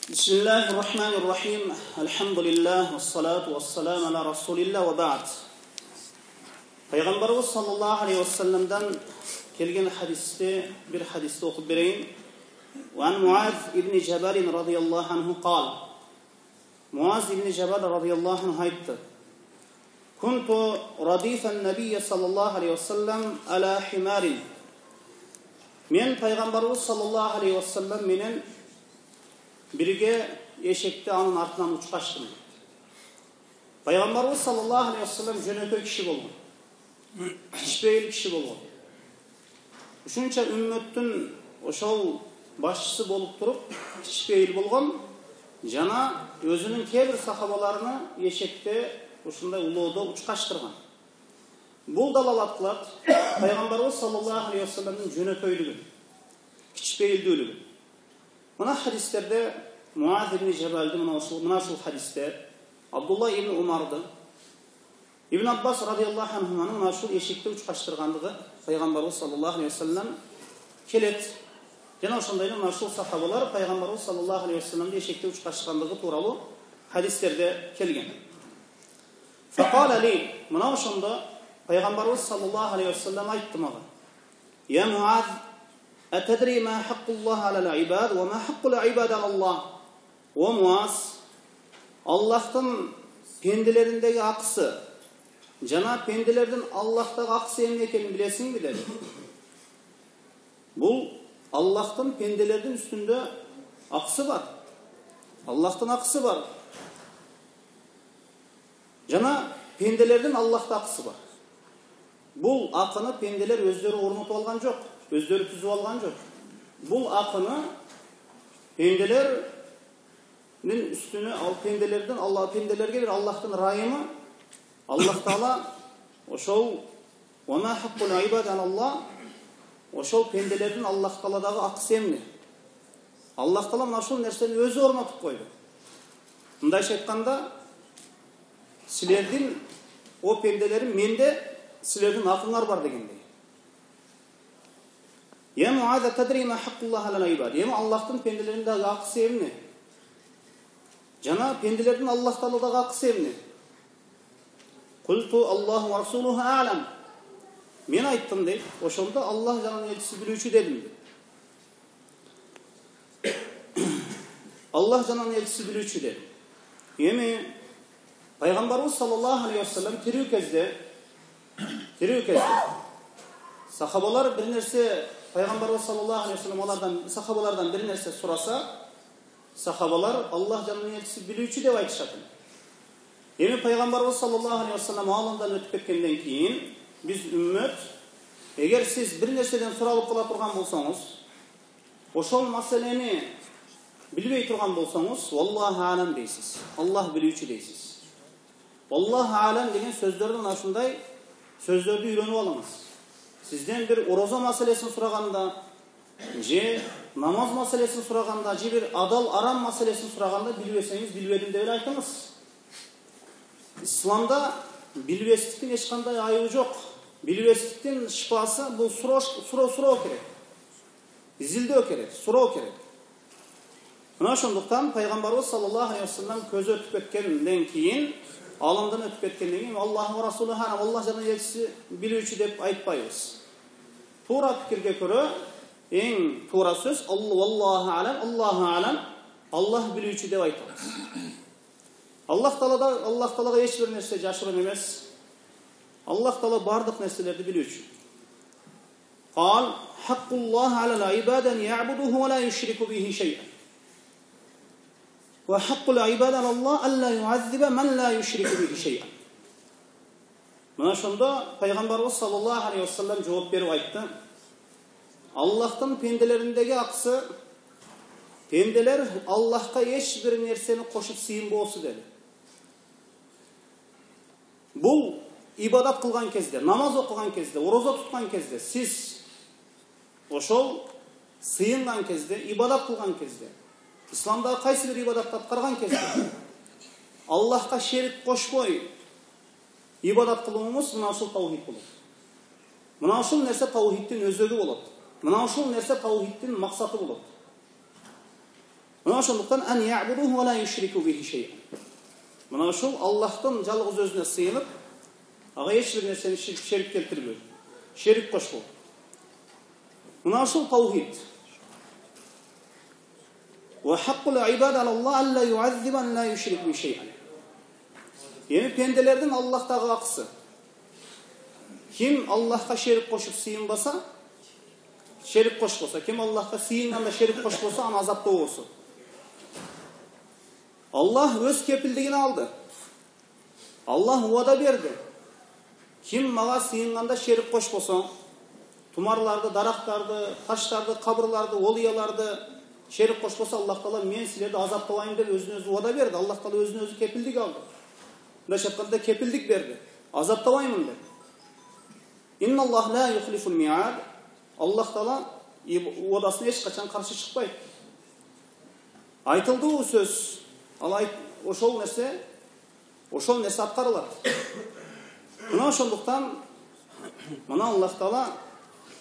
Bismillahirrahmanirrahim. Elhamdülillah ve salatu ve selamu ala Resulillah ve ba'd. Peygamberimiz sallallahu aleyhi ve sellem'den kelgen hadiste bir hadiste okup bereyim. Ve an Muaz ibn Cebel radıyallahu anhu qal. Muaz ibn Cebel radıyallahu anh aytdı. Kuntu radifen nebiyye sallallahu aleyhi ve sellem ala himarin. Men Peygamberimiz sallallahu aleyhi ve sellem menen birge eşekte anın artından uçkaştım. Peygamberimiz sallallahu aleyhi ve sellem jönökö kişi bolgun. Kişbeyli kişi bolgun. Uşunça ümmettün oşol başçısı bolup turup kişbeyli bolgun. Jana özünün kebir sahabalarını eşekte uşunday ulooda uçkaştırgan. Bul dalalat kılat Peygamberimiz sallallahu aleyhi ve sellem'in jönököylügü, kişbeyildүүлүгү. Mına hadislerde Muaz ibn Cebel'di mına şu hadiste Abdullah ibn Umar'dı. İbn Abbas radıyallahu anh'ın mına şu eşekte uçkaştırganlığı Peygamberimiz sallallahu aleyhi ve sellem kelet. Jana ошондой мына şu sahabalar Peygamberimiz sallallahu aleyhi ve sellem'de eşekte uçkaştırganlığı turalı hadislerde kelgen. Faqala li mına ошондо Peygamberimiz sallallahu aleyhi ve sellem aytты maga. Ya Muaz أتدري ما حق الله على العباد وما حق العباد على الله؟ O Muaz, Allah'tan pendelerindeki aksı, jana pendelerden Allah'taki aksı emne ekenini bilesin mi dedi. Bu Allah'tan pendelerden üstünde aksı var. Allah'tan aksı var. Jana pendelerden Allah'ta aksı var. Bu akını pendeler özleri ornutup algan jok. Özleri tüzüp algan jok. Bu akını pendelerin üstüne pendelerden Allah pendelerge bir Allah'tan rayımı Allah Taala oşol ve ma hakkul ibad Allah oşol pendelerden Allah Taala'dagı aksı emni. Allah Taala mana şol nersени özü ornotup koydu. Mындайча айтканда силердин o pendelerin mende силердин акыңар бар дегендей. Ya Muaz tadri ma haqqullah ala ibad. Ya Allah'ın pendelerindagi akısı emne? Jana pendelerden Allah Taala'dagi akısı emne? Qultu Allahu ve Rasuluhu a'lam. Men ayttım deyip, oşonda Allah janın elçisi bilүүчү dedim. Allah janın elçisi bilүүчү dedim. Yemi Peygamberimiz sallallahu aleyhi ve sellem tiriw kezde sahabalar bir nerse Peygamberimiz sallallahu aleyhi ve sellem sahabalardan bir nerse sorasa sahabalar Allah janın elçisi bilүүчү dep aytышат. Эми Peygamberimiz sallallahu aleyhi ve sellem alımdan ötüp ketkenden keyin biz ümmet eğer siz bir nerseden soralıp kala turgan bolsoңуз oşol maseleni bilbey turgan bolsoңуз vallahu alam deysiz. Allah bilүүчү deysiz. Vallahu alam degen sözdөрдөн aşınday sözdөрдү үйрөнүп alыңыз. Sizden bir oroza meselesini soraganda, je namaz meselesini soraganda, je bir adal aram meselesini soraganda bilbeseniz bilbedim dep aytыңыз. İslamda bilbesliktin hiç kanday ayıbı yok. Bilbesliktin şifası bu soru kerek. İzilde kerek, soru kerek. Buna şonduktan Peygamberimiz sallallahu aleyhi ve sellem közü ötüp etkenden keyin alımdan ötüp etkenden keyin Allah ve Resulü Allah janın elçisi bilүүчү dep aytpayбыз. Tura fikirge körө eng tura söz Allahu alam Allah bilүүчү dep aytабыз. Allah Taala'ga hiç bir nerse jaşырын emес. Allah Taala bardyk nerselerdi bilүүчү. Qal haqqullah alal ibadan ya'buduhu ve la yushriku bihi şey'an. Ve haqqul ibadan Allah alla yu'azziba men la yushriku bihi şey'an. Mana şonda Peygamberimiz sallallahu aleyhi ve sellem cevap berip aytты. Allah'tan pendelerindeki aksı pendeler Allah'a hiç bir nerseni koşup sıyınbosu dedi. Bu ibadat kılgan kezde, namaz okugan kezde, oroza tutgan kezde, siz oşol sıyıngan kezde, ibadat kılgan kezde, İslamda kaysi bir ibadat atkарган kezde, Allah'a şerik koşboy ibadat kılımımız mına ушул tawhid болот. Mına ушул nerse tawhidin özögü болот. мына ушул нерсе таухиддин максаты болот. Мына ошондуктан ан я'будуху ва ла юшрику бихи шей'ан. Мына ушул Аллахтын жалгыз өзүнө сыйынып, ага эч бир нерсени шерик келтирбөө, шерик кошпоо. Мына ушул таухид. Ва хаккул ибад ала Аллах алла ю'аззиба ла юшрик бихи шей'ан. Эми пенделердин Аллахтагы акысы. Ким Аллахка шерик кошуп сыйынбаса, шерик кошпосо, ким Аллахка сыйынганда шерик кошпосо, аны азаптоо болсо. Аллах өз кепилдигин алды. Аллах уада берди. Ким мага сыйынганда шерик кошпосо, тумарларды, дарактарды, таштарды, кабырларды, олияларды шерик кошпосо, Аллах Таала мен силерди азаптабайм деп өзүнө өзү уада берди. Аллах Таала өзүнө өзү кепилдик алды. Мындайча айтканда кепилдик берди. Азаптабаймын деп. Инна Аллах ла юхлифул ми'ад. Аллах Таала уадасына эч качан каршы чыкпайт. Айтылды бул сөз. Ошол нерсе аткарылат. Мына ошондуктан мына Аллах Таала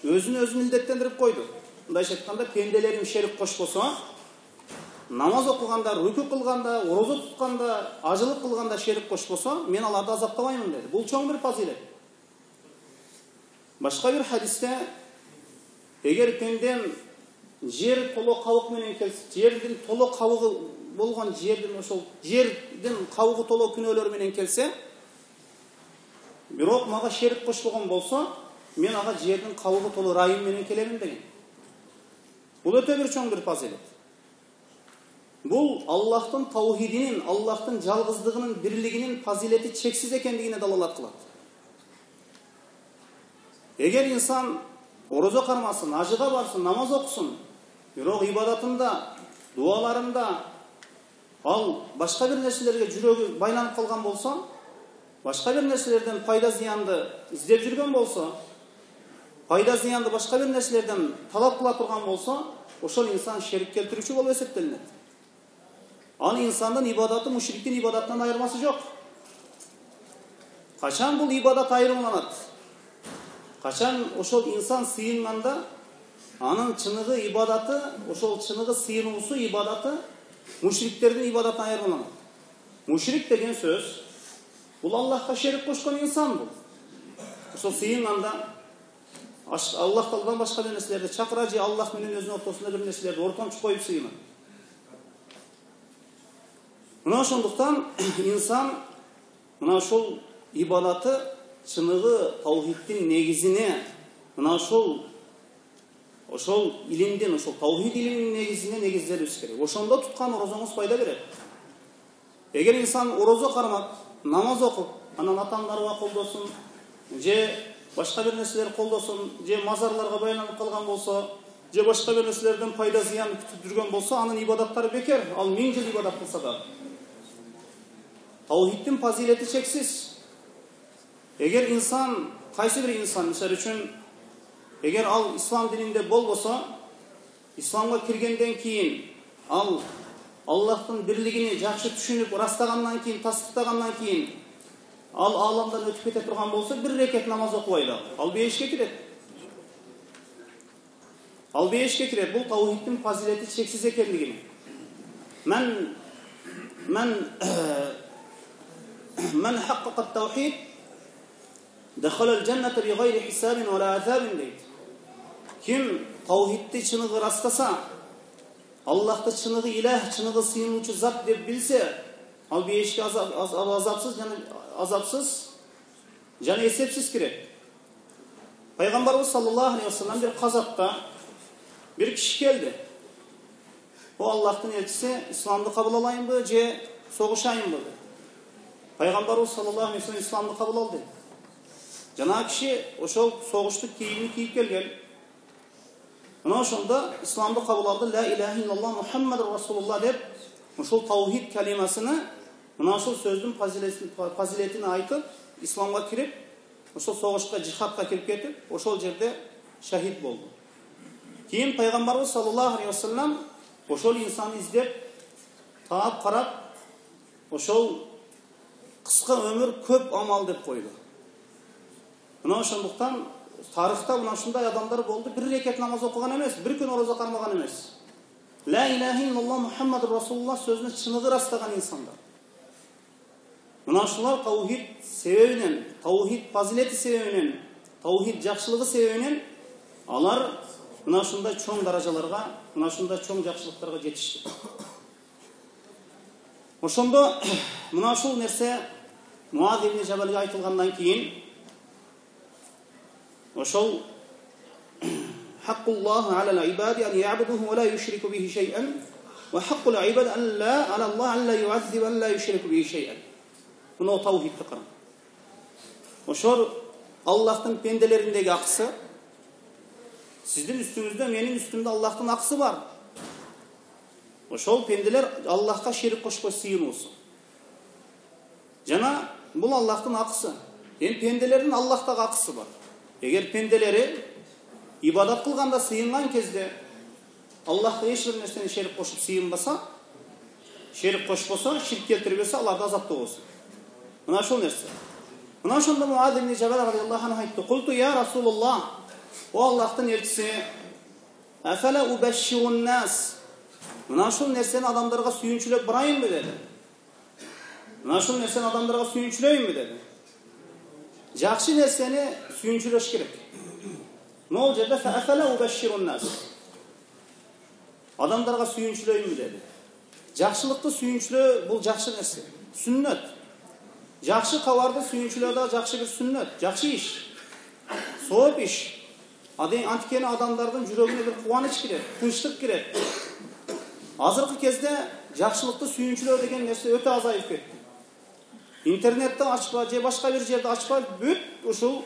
өзүн өзү милдеттендирип койду. Мындайча айтканда пенделерим шерик кошпосо, намаз окуганда, рүкү кылганда, орозо тутканда, ажылык кылганда шерик кошпосо, мен аларды азаптабаймын деди. Бул чоң бир фазилет. Башка бир хадисте, эгер пендем жер толо кабык менен келсе, жердин толо кабыгы болгон жердин жердин кабыгы толо күнөөлөр менен келсе, бирок мага шерик кошпогон болсо, мен ага жердин кабыгы толо райым менен келемин деген. Бул өтө бир чоң бир фазилет. Бул Аллахтын таухидинин, Аллахтын жалгыздыгынын, бирлигинин фазилети чексиз экендигине далалат кылат. Эгер инсан орозо кармасын, ажыга барсын, намаз окусун, бирок ибадатында, дуаларында ал башка бир нерселерге жүрөгү байланып калган болсо, башка бир нерселерден пайда зыянды издеп жүргөн болсо, пайда зыянды башка бир нерселерден талап кыла турган болсо, ошол инсан шерик келтирүүчү болуп эсептелинет. Ал инсандын ибадаты мушриктин ибадатынан айырмасы жок. Качан бул ибадат айырмаланат? Качан ошол инсан сыйынганда, анын чыныгы ибадаты, ошол чыныгы сыйынуусу ибадаты мушриктердин ибадатынан айырмаланат. Мушрик деген сөз бул Аллахка шерик кошкон инсан бул. Ошол сыйынганда Аллах Тааладан башка бир нерселерди чакыра же Аллах менен өзүнүн ортосунда бир нерселерди ортомчу коюп сыйынат. Мына ошондуктан инсан мына ошол ибадаты чыныгы таухиддин негизине, мына ошол илимдин, ошол таухид илиминин негизине негизделиш керек. Ошондо туткан орозоңуз пайда берет. Эгер инсан орозо кармап, намаз окуп, анан атаңдарга колдосун, же башка бир нерселер колдосун, же мазарларга байланып калган болсо, же башка бир нерселерден пайда зыян күтүп жүргөн болсо, анын ибадаттары бекер. Ал 1000 жыл ибадат кылса да. Таухиддин фазилети чексиз. Эгер инсан, кайсы бир инсан, мисалы үчүн, эгер ал ислам дининде болбосо, исламга киргенден кийин ал Аллахтын бирлигини жакшы түшүнүп, ырастагандан кийин, тастыктагандан кийин ал ааламдан өтүп кете турган болсо, бир рекет намаз окубайт, ал бейишке кирет. Ал бейишке кирет. Бул таухиддин фазилети чексиз экендигине. من حقق التوحيد دخل الجنة بغير حساب ولا عذاب дейт. Ким таухидди чыныгы растаса, Аллахты чыныгы илах, чыныгы сыйынуучу зат деп билсе, ал бейишке азапсыз жана эсепсиз кирет. Пайгамбарыбыз саллаллаху алейхи вассалам бир казакка бир киши келди. О Аллахтын элчиси, исламды кабыл алайынбы же согушайынбы деп. Пайгамбарыбыз саллаллаху алейхи вассалам исламды кабыл алды. Жана киши ошол согуштук кийимин кийип келген. Мына ошондо исламды кабыл алды. Ла илаха иллаллах Мухаммаdur Расулуллах деп, ошол таухид калимасыны, мына ошол сөздүн фазилетин айтып, исламга кирип, ошол согушка, жихадка кирип кетип, ошол жерде шахид болду. Кийин пайгамбарыбыз саллаллаху алейхи вассалам ошол инсаны издеп, таап карап, ошол кыска өмүр көп амал деп койду. Мына ошондуктан тарыхта мына ушундай адамдар болду, бир рекет намаз окуган эмес, бир күн орозо кармаган эмес. Ла илаха иллаллах Мухаммадур Расулуллах сөзүнө чыныгы ырастаган инсандар. Мына ушулар таухид себебинен, таухид фазилети себебинен, таухид жакшылыгы себебинен алар мына ушундай чоң даражаларга, мына ушундай чоң жакшылыктарга жетишти. Ошондо мына ушул нерсе Муаз ибн Жабалге айтылгандан кийин ошол хаккуллахи алал ибади ан я'будуху ва ла юшрику бихи шай'ан ва хаккул ибади алаллахи ан ла ю'аззибу ва ла юшрику бихи шай'ан. Мына таухидти карang. Ошол Аллахтын пенделериндеги акысы, сиздин үстүңүздө, менин үстүмдө Аллахтын акысы бар. Ошол пенделер Аллахка шерик кошпой сыйынуусу. Жана бул Аллахтын акысы. Пенделердин Аллахтагы акысы бар. Эгер пенделери ибадат кылганда сыйынган кезде Аллахка эч бир нерсени шерик кошуп сыйынбаса, шерик кошпосо, ширк келтирбесе, аларды азаптоо болсун. Мына ошол нерсе. Мына ошондо Муаз ибн Жабал радиаллаху анху айтты: "Култу я Расулуллах, о Аллахтын элчиси, афала убашширун нас." Мына ушул нерсени адамдарга сүйүнчүлөп барайынбы деди. Мына ушул нерсени адамдарга сүйүнчүлөйүнбү деди. Жакшы нерсени сүйүнчүлөш керек. Могул жерде афала убашширун нас. Адамдарга сүйүнчүлөйүнбү деди. Жакшылыкты сүйүнчүлөө бул жакшы нерсе. Сүннөт. Жакшы кабарды сүйүнчүлөө да жакшы бир сүннөт, жакшы иш. Сооп иш. Анткени адамдардын жүрөгүнө бир кубаныч кирет, тынчтык кирет. Азыркы кезде жакшылыкты сүйүнчүлөө деген нерсе өтө азайып кетти. Интернетте ачпа же башка бир жерде ачпа бүт ушул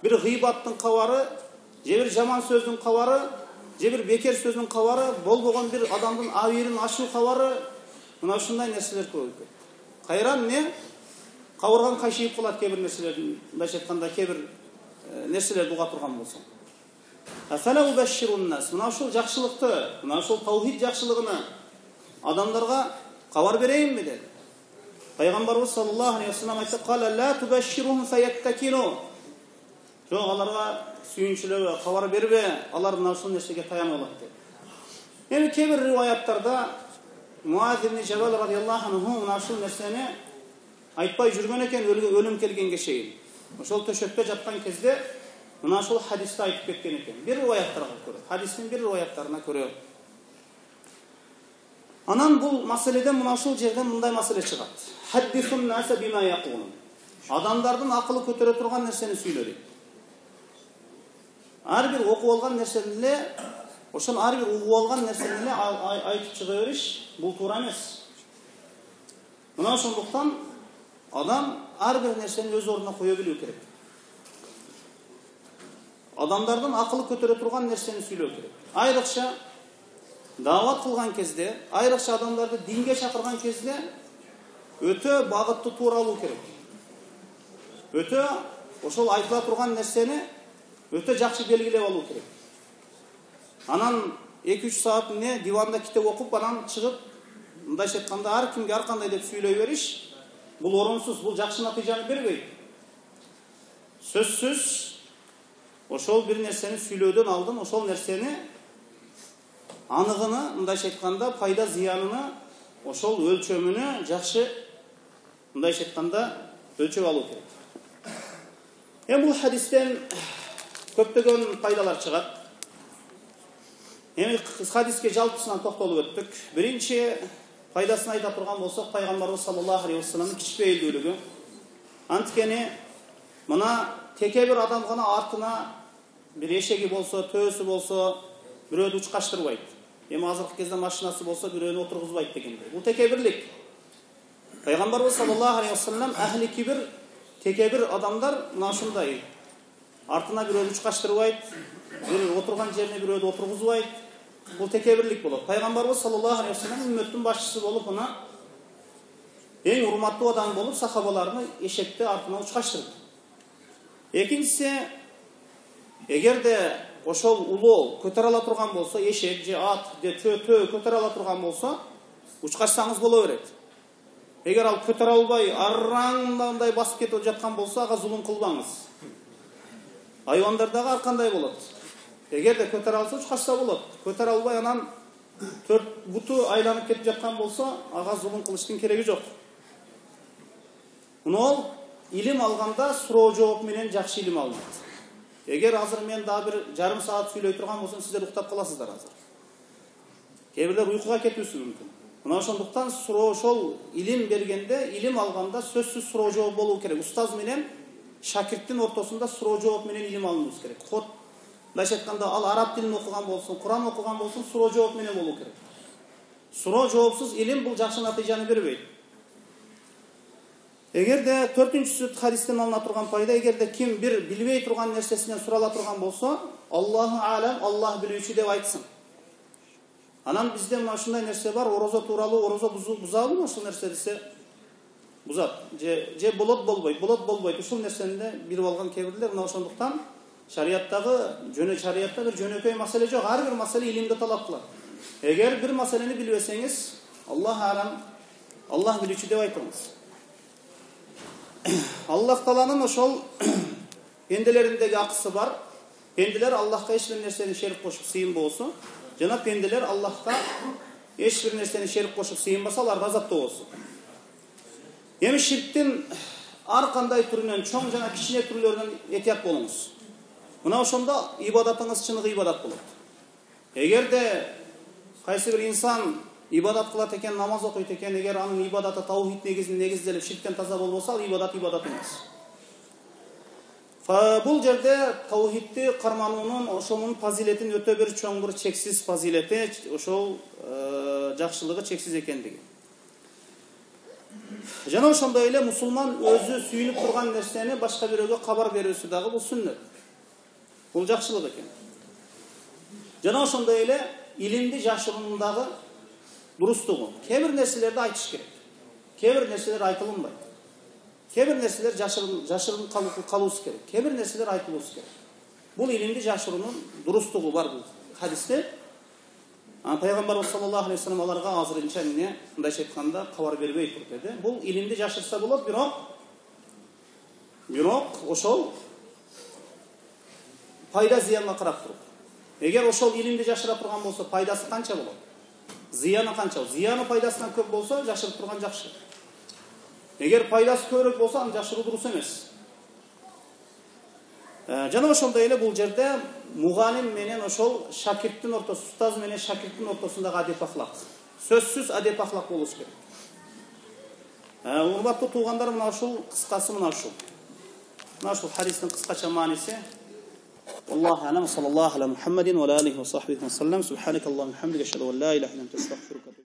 бир гыйбаттын кабары, же бир жаман сөздүн кабары, же бир бекер сөздүн кабары, болбогон бир адамдын абийирин ачуу кабары, мына ушундай нерселер көп кетти. Кайран эмне? Кабырган кайшыйып калат кээ бир нерселердин, мындайча айтканда кээ бир нерселерди уга турган болсоң. Афала убашширун нас. Мына ушул жакшылыкты, мына ушул таухид жакшылыгына адамдарга кабар берейинби деди. Пайгамбарыбыз саллаллаху алейхи ва саллям айтты: "Кала ла тубашширухум фаяттакину." Жок, аларга сүйүнчүлөбө, кабар бербе, алар мына ушул нерсеге таянып алат деди. Эми кээ бир риваяттарда Муаз ибн Жабал радиаллаху анху мына ушул нерсени айтпай жүргөн экен, өлүм келгенге чейин. Ошол төшөккө жаткан кезде мына ушул хадисти айтып кеткен экен. Бир риваяттарга көрө, хадистин бир риваяттарына көрө. Анан бул маселеден мына ушул жерден мындай маселе чыгат. Хаддисун наса бима якулун. Адамдардын акылы көтөрө турган нерсени сүйлө дейт. Ар бир окуп алган нерсени эле, ошол ар бир угуп алган нерсени эле айтып чыга бериш бул туура эмес. Мына ошондуктан адам ар бир нерсени өз ордуна кое билүү керек. Адамдардын акылы көтөрө турган нерсени сүйлөө керек. Айрыкча даават кылган кезде, айрыкча адамдарды динге чакырган кезде өтө багытты туура алуу керек. Өтө ошол айтыла турган нерсени өтө жакшы белгилеп алуу керек. Анан 2-3 саат диванда китеп окуп, анан чыгып, мындайча айтканда ар кимге ар кандай деп сүйлөй бериш, бул орунсуз, бул жакшы натыйжаны бербейт. Сөзсүз ошол бир нерсени сүйлөөдөн алдын ошол нерсени аныгыны, мындайча айтканда пайда зыянына, ошол өлчөмүнө жакшы, мындайча айтканда өлчөп алуу керек. Эми бул хадистен көптөгөн пайдалар чыгат. Эми хадиске жалпысынан токтолуп өттүк. Биринчи пайдасын айта турган болсок, Пайгамбарыбыз саллаллаху алейхи ва салламдын кичпейилдүүлүгү. Анткени мына теке бир адам гана артына бир эшеги болсо, төөсү болсо, бирөөдү учкаштырбайт. Эми азыркы кезде машинасы болсо, бирөөнү отургузбайт дегендей. Бул теке бирлик. Пайгамбарыбыз саллаллаху алейхи ва саллям ахли кибир, теке бир адамдар мына ушундай. Артына бирөөдү учкаштырбайт, бир отурган жерине бирөөдү отургузбайт. Бул теке бирлик болот. Пайгамбарыбыз саллаллаху алейхи ва саллям үммөттүн башчысы болуп, мына эң урматтуу адам болуп, сахабаларны эшекти артына учкаштырды. Экинчиси, эгерде ошол улоо көтөрө ала турган болсо, эшек же ат же төө көтөрө ала турган болсо, учкашсаңыз боло берет. Эгер ал көтөрө албай, арраңдай басып кетип жаткан болсо, ага зулум кылбаңыз. Айвандардағы ар кандай болот. Эгерде көтөрө алса чыкса болот. Көтөрө албай анан 4 буту айланып кетип жаткан болсо, ага зулум кылыштын кереги жок. Мына илим алганда суроо жооп менен жакшы илим алынат. Эгер азыр мен дагы бир жарым саат сүйлөй турган болсом, сиздер уктап каласыздар азыр. Кээ бирлер уйкуга кетүүсү мүмкүн. Мына ошондуктан суроо ошол илим бергенде, илим алганда сөзсүз суроо жооп болуу керек. Устаз менен шакирттин ортосунда суроо жооп менен илим алынуш керек. Код мындайча айтканда, ал араб тилин окуган болсун, Куран окуган болсун, суроо жооп менен болуу керек. Суроо жоопсуз илим бул жакшы натыйжаны бербейт. Эгерде 4-чүсү хадистен алына турган пайда, эгерде ким бир билбей турган нерсесинен сурала турган болсо, Аллаху алам, Аллах билүүчү деп айтсын. Анан бизде мына ушундай нерсе бар, орозо тууралуу, орозо бузабы ушул нерсе десе бузат. Же болот болбойт. Ушул нерсени билип алган кээ-бирлер. Мына ошондуктан шариятта бир жөнөкөй маселе жок. Ар бир маселе илимди талап кылат. Эгер бир маселени билбесеңиз, Аллах алам, Аллах билүүчү деп айтыңыз. Аллах Тааланын ошол пенделериндеги акысы бар. Пенделер Аллахка эч бир нерсени шерик кошуп сыйынбосо, жана пенделер Аллахка эч бир нерсени шерик кошуп сыйынбаса, алар газаптуу болсун. Эми ширктин ар кандай түрүнөн, чоң жана кичине түрлөрүнөн этият болуңуз. Мына ошондо ибадатыңыз чыныгы ибадат болот. Эгерде кайсы бир инсан ибадат кылат экен, намаз окуйт экен, эгер анын ибадаты таухид негизделип ширктен таза болбосо, ал ибадат эмес. Бул жерде таухидти кармануунун, ошонун фазилетин өтө бир чоң бир чексиз фазилети, ошол жакшылыгы чексиз экендиги. Жана ошондой эле мусулман өзү сүйүнүп турган нерсени башка бирөөгө кабар берүүсү дагы бул сүннөт. Бул жакшылык экен. Жана ошондой эле илимди жашыруунундагы дурустугу. Кээ бир нерселерди айтыш керек. Кээ бир нерселер айтылынбайт. Кээ бир нерселер жашырын калуусу керек. Кээ бир нерселер айтылуусу керек. Бул илимди жашыруунун дурустугу бар бул хадисте. Пайгамбарыбыз саллаллаху алейхи вассалам аларга азырынча эмне мындайча айтканда кабар бербей тур деди. Бул илимди жашырса болот, бирок ошол пайда зыянга карап туруп. Эгер ошол илимди жашыра турган болсо, пайдасы канча болот? Зыяны канча? Зыяны пайдасынан көп болсо, жашырып турган жакшы. Эгер пайдасы көбүрөөк болсо, аны жашыруу дурус эмес. Жана ошондой эле бул жерде мугалим менен ошол шакирттин ортосу, устаз менен шакирттин ортосундагы адеп ахлак. Сөзсүз адеп ахлак болуш керек. Урматтуу туугандар, мына ушул кыскасы мына ушул. Мына ушул хадистин кыскача мааниси. Аллаху алам, саллаллаху аля Мухаммадин ва алейхи ва сахбихи ва саллам. Субханакаллаху ва бихамдика, ашхаду ан ла иляха илля анта, астагфирука.